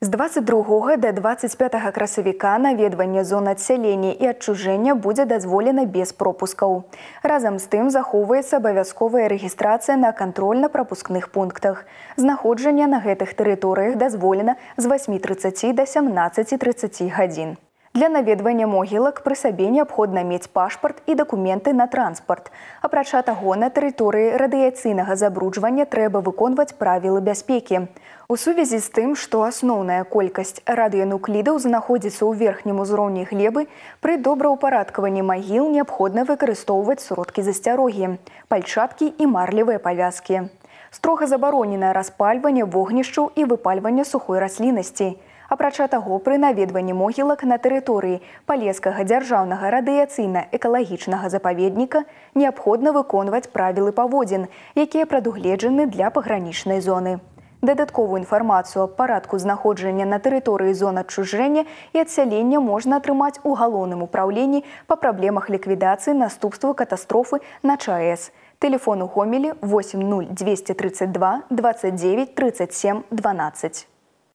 З 22 до 25 красавіка наведванне зон адсялення і адчужэння будзе дазволена без пропускаў. Разам з тым захоўваецца абавязковая рэгістрацыя на кантрольна-прапускных пунктах. Знаходжанне на гэтых тэрыторыях дазволена з 8:30 до 17:30 гадзін. Для наведвання могілак пры сабе неабходна мець пашпарт і дакументы на транспарт. Апрача таго, на тэрыторыі радыяцыйнага забруджвання трэба выконваць правілы бяспекі. У сувязі з тым, што асноўная колькасць радыенуклідаў знаходзіцца ў верхнім узроўні глебы, пры добраўпарадкаванні магіл неабходна выкарыстоўваць сродкі засцярогі, пальчаткі і марлевыя павязкі. Строга забаронена распальванне вогнішчаў і выпальванне сухой расліннасці. Апрача таго, пры наведванні могілак на тэрыторыі Палескага дзяржаўнага радыяцыйна-экалагічнага запаведніка неабходна выконваць правілы паводзін, якія прадугледжаны для пагранічнай зоны. Дадатковую інфармацыю аб парадку знаходжання на тэрыторыі зон адчужэння і адсялення можна атрымаць у галоўным упраўленні па праблемах ліквідацыі наступстваў катастрофы на ЧАЭС. Тэлефон у Гомелі 80232 29 37 12.